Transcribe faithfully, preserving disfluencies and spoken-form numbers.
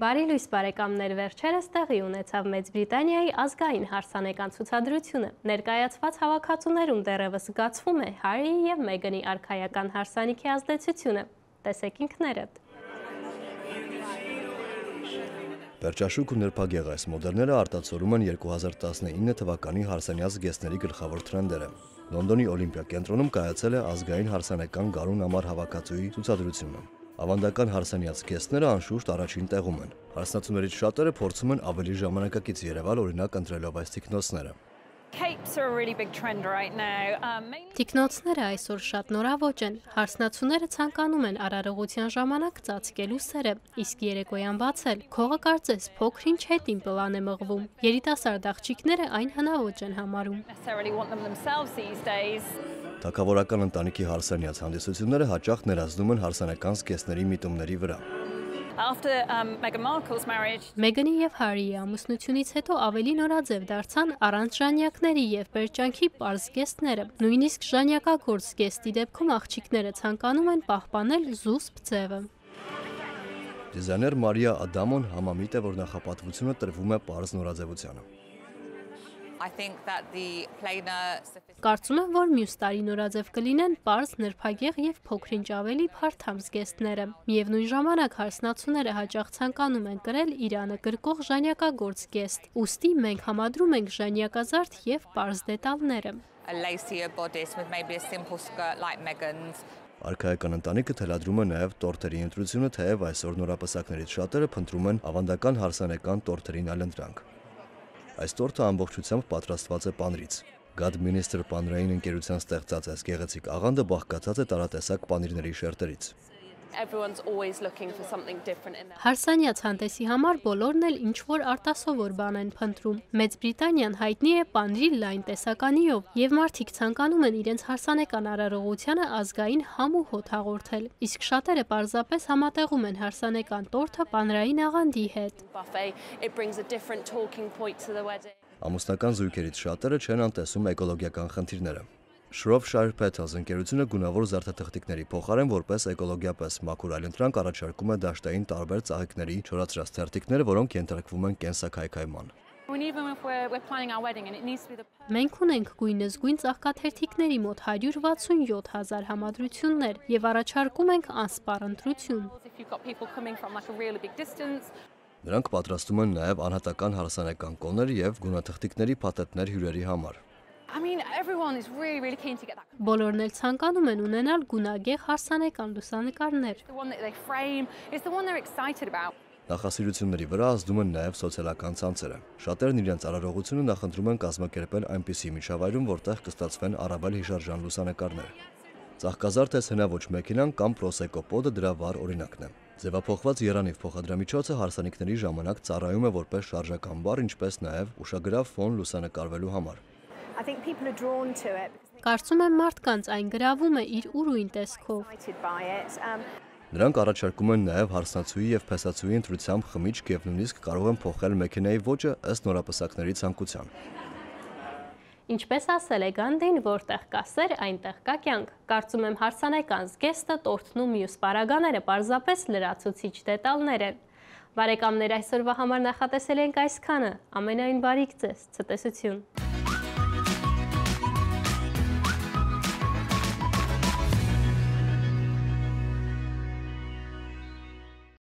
Բարի լույս բարեկամներ, վերջերս տեղի ունեցավ Մեծ Բրիտանիայի ազգային հարսանեկան ցուցադրությունը։ Ներկայացված հավաքածուներում դեռևս զգացվում է Հարիի և Մեգանի արքայական հարսանիքի ազդեցությունը։ Տեսեք ինքներդ։ Վերջաշուք ու նրբագեղ այս մոդելները արտացոլում են երկու հազար տասնինը թվականի հարսանյաց զգեստների գլխավոր թրենդերը։ Լոնդոնի Օլիմպիա կենտրոնում կայացել է ազգային հարսանեկան գարուն ամառ հավաքածուի ցուցադրությունը։ Ավանդական հարսանյաց զգեստները անշուշտ առաջին տեղում են։ Հարսնացուներից շատերը փորձում են ավելի ժամանակակից երևալ, օրինակ ընտրելով այս թիկնոցները։ Թիկնոցները այսօր շատ նորաոճ են։ Հարսնացուները ցանկանում են արարողության ժամանակ ծածկելու սերը, իսկ երեկոյան բացել։ Քողը կարծես փոքր-ինչ հետին պլան է մղվում։ Երիտասարդ աղջիկները այն հնաոճ են համարում։ Թագավորական ընտանիքի հարսանյաց հանդիսությունները հաճախ ներազդում են հարսանեկան զգեստների միտումների վրա։ Մեգանի և Հարիի ամուսնությունից հետո ավելի նորաձև դարձան առանց ժանյակների և պերճանքի պարզ զգեստները։ Նույնիսկ ժանյակագործ զգեստի դեպքում աղջիկները ցանկանում են պահպանել զուսպ ձևը։ Դիզայներ Մարիա Ադամոն համամիտ է, որ նախապատվությունը տրվում է պարզ նորաձևությանը։ Կարծում եմ, որ մյուս տարի նորաձև կլինեն պարզ, նրբագեղ և փոքր-ինչ ավելի փարթամ զգեստները։ Միևնույն ժամանակ հարսնացուները հաճախ ցանկանում են կրել իրանը գրկող ժանյակագործ զգեստ, ուստի մենք համադրում ենք ժանյակազարդ և պարզ դետալները։ Արքայական ընտանիքը թելադրում է նաև տորթերի ընտրությունը, թեև այսօր նորապսակներից շատերը փնտրում են ավանդական հարսանեկան տորթերին այլընտրանք։ Այս տորթը ամբողջությամբ պատրաստված է պանիրից։ Godminister պանիրային ընկերության ստեղծած այս գեղեցիկ աղանդը բաղկացած է տարատեսակ պանիրների շերտերից։ Հարսանյաց հանդեսի համար բոլորն էլ ինչ-որ արտասովոր բան են փնտրում։ Մեծ Բրիտանիան հայտնի է պանիրի լայն տեսականիով, և մարդիկ ցանկանում են իրենց հարսանեկան արարողությանը ազգային համ ու հոտ հաղորդել, իսկ շատերը պարզապես համատեղում են հարսանեկան տորթը պանիրային աղանդի հետ։ Ամուսնական զույգերից շատերը չեն անտեսում էկոլոգիական խնդիրները։ Shropshire Petals ընկերությունը գունավոր զարդաթղթիկների փոխարեն որպես էկոլոգիապես մաքուր այլընտրանք առաջարկում է դաշտային տարբեր ծաղիկների չորացրած թերթիկներ, որոնք ենթարկվում են կենսաքայքայման։ Մենք ունենք գույնզգույն ծաղկաթերթիկների մոտ հարյուր վաթսունյոթ հազար համադրություններ և առաջարկում ենք անսպառ ընտրություն։ Նրանք պատրաստում են նաև անհատական հարսանեկան կոներ և գունաթղթիկների փաթեթներ հյուրերի համար։ Բոլորն էլ ցանկանում են ունենալ գունագեղ հարսանեկան լուսանկարներ։ Նախասիրությունների վրա ազդում են նաև սոցիալական ցանցերը։ Շատերն իրենց արարողությունը նախընտրում են կազմակերպել այնպիսի միջավայրում, որտեղ կստացվեն առավել հիշարժան լուսանկարներ։ Ծաղկազարդ հնաոճ մեքենան կամ պրոսեկո պոդը դրա վառ օրինակն է։ Ձևափոխված եռանիվ փոխադրամիջոցը հարսանիքների ժամանակ ծառայում է որպես շարժական բառ, ինչպես նաև ուշագրավ ֆոն լուսանկարվելու համար։ Կարծում եմ մարդկանց այն գրավում է իր ուրույն տեսքով։ Նրանք առաջարկում են նաև հարսնացուի և փեսացուի ընտրությամբ խմիչք և նույնիսկ կարող են փոխել մեքենայի ոճը ըստ նորապսակների ցանկության։ Ինչպես ասել է Գանդին, որտեղ կա սեր, այնտեղ կա կյանք։ Կարծում եմ հարսանեկան զգեստը, տորթն ու մյուս պարագաները պարզապես լրացուցիչ դետալներ են։ Բարեկամներ, այսօրվա համար նախատեսել ենք այսքանը։ Ամենայն բարիք ձեզ, ցտեսություն։